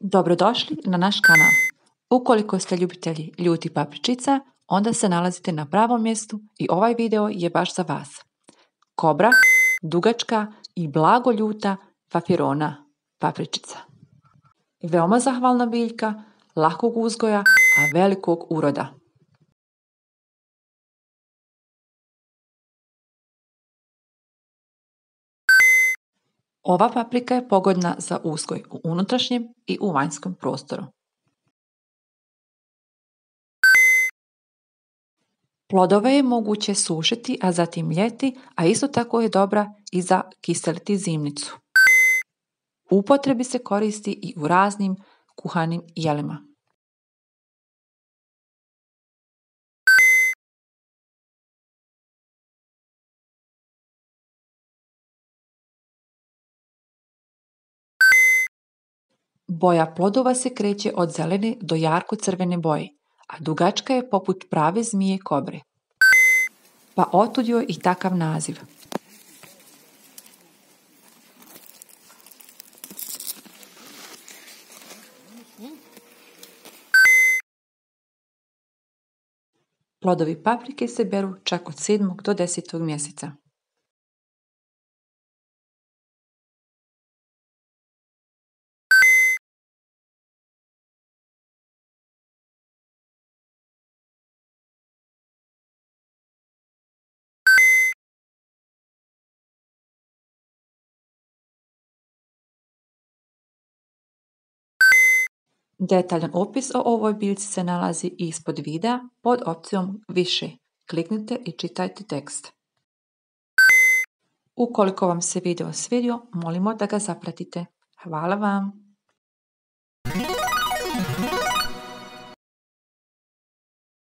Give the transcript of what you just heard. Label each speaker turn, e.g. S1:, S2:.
S1: Dobrodošli na naš kanal. Ukoliko ste ljubitelji ljutih papričica, onda se nalazite na pravom mjestu i ovaj video je baš za vas. Kobra, dugačka i blago ljuta papirona papričica. Veoma zahvalna biljka, lahkog uzgoja, a velikog uroda. Ova paprika je pogodna za uzgoj u unutrašnjem i u vanjskom prostoru. Plodove je moguće sušiti, a zatim ljeti, a isto tako je dobra i za kiseliti zimnicu. U upotrebi se koristi i u raznim kuhanim jelima. Boja plodova se kreće od zelene do jarko crvene boje, a dugačka je poput prave zmije kobre. Pa otud joj i takav naziv. Plodovi paprike se beru čak od 7. do 10. mjeseca. Detaljan opis o ovoj biljci se nalazi ispod videa pod opcijom više. Kliknite i čitajte tekst. Ukoliko vam se video svidio, molimo da ga zapratite. Hvala vam!